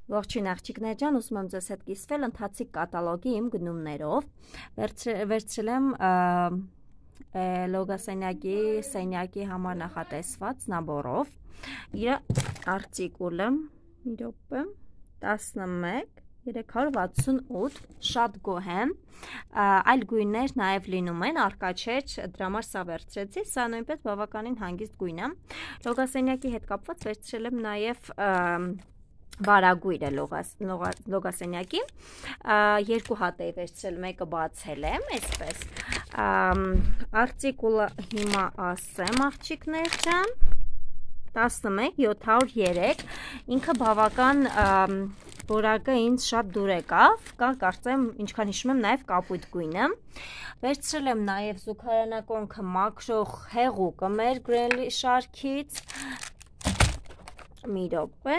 Ողջույն աղջիկներ ջան, ուզում եմ ձեզ հետ կիսվել ընթացիկ կատալոգի իմ գնումներով։ Վերցրել եմ լոգասենյակի սենյակի համար նախատեսված նաբորով։ Իր արտիկուլը 11,368, շատ գոհ եմ, այլ գույներ նաև լինում են, արկա չէր, դրա համար սա վերցրեցի, սա նույնպես բավականին հանգիստ գույն է։ Լոգասենյակի հետ կապված վերցրել եմ նաև վարագույրը լոգասենյակի, երկու հատ էի վերցրել, մեկը բացել եմ, այսպես, արտիկուլը հիմա ասեմ աղջիկներ ջան, 11,703, ինքը բավական որակը ինձ շատ դուր եկավ, կարծեմ ինչքան հիշում եմ նաև կապույտ գույնը, վերցրել եմ նաև զուգարանակոնքը մաքրող հեղուկը մեր Greenly շարքից, մի րոպե,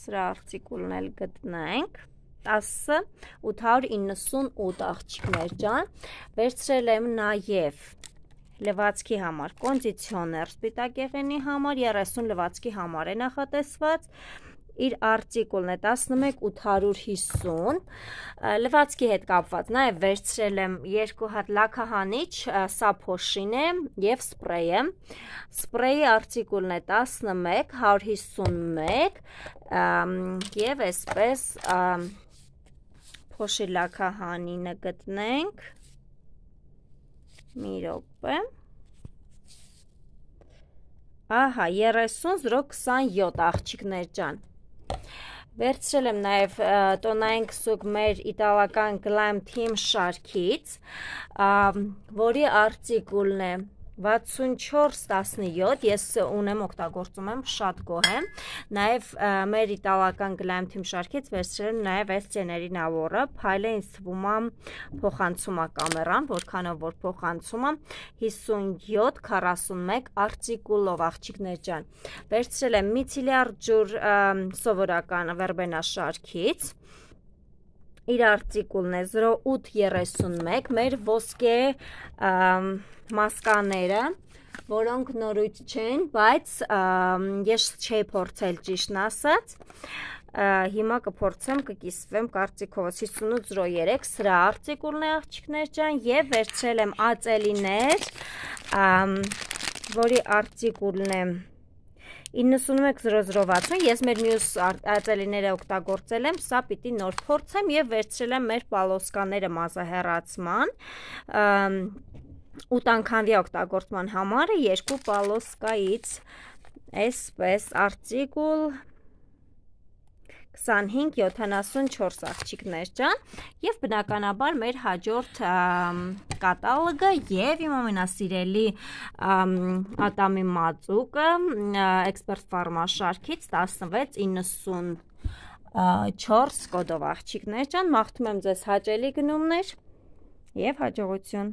սրա արտիկուլն էլ գտնենք, 10,898 աղջիկներ ջան, վերցրել եմ նաև լվացքի համար կոնդիցիոներ սպիտակեղենի համար, 30 լվացքի համար է նախատեսված, իր արտիկուլն է 11,850, լվացքի հետ կապված նաև վերցրել եմ երկու հատ լաքահանիչ, սա փոշին է և սպրեյը, սպրեյի արտիկուլն է 11,151 և այսպես փոշի լաքահանինը գտնենք, մի րոպե, ահա 30,027 աղջիկներ ջան, վերցրել եմ նաև տոնային քսուկ մեր իտալական Glam Team շարքից, որի արտիկուլն է 64,17, ես ունեմ օգտագործում եմ, շատ գոհ եմ, նաև մեր իտալական Glam Team շարքից վերցրել եմ նաև այս ծեների նաբորը, փայլը ինձ թվում է փոխանցում է կամերան, որքանով որ փոխանցում է, 57,41 արտիկուլով աղջիկներ ջան, վերցրել եմ միցիլյար ջուր սովորական վերբենա շարքից, իր արտիկուլն է 0,831, մեր ոսկե մասկաները, որոնք նորույթ չեն, բայց ես չէի փորձել ճիշտն ասած, հիմա կփորձեմ, կկիսվեմ կարծիքովս 58,03, սրա արտիկուլն է աղջիկներ ջան, և վերցրել եմ ածելիներ, որի արտիկուլն է 91,0060, ես մեր մյուս ածելիները օգտագործել եմ, սա պիտի նոր փորձեմ և վերցրել եմ մեր պալոսկաները մազահեռացման, 8 անգամվա օգտագործման համար երկու պալոսկայից, այսպես արտիկուլ 25,74 աղջիկներ ջան, և բնականաբար մեր հաջորդ կատալոգը և իմ ամենասիրելի ատամի մածուկը Expert Pharma շարքից 16,94 կոդով աղջիկներ ջան, մաղթում եմ ձեզ հաճելի գնումներ և հաջողություն։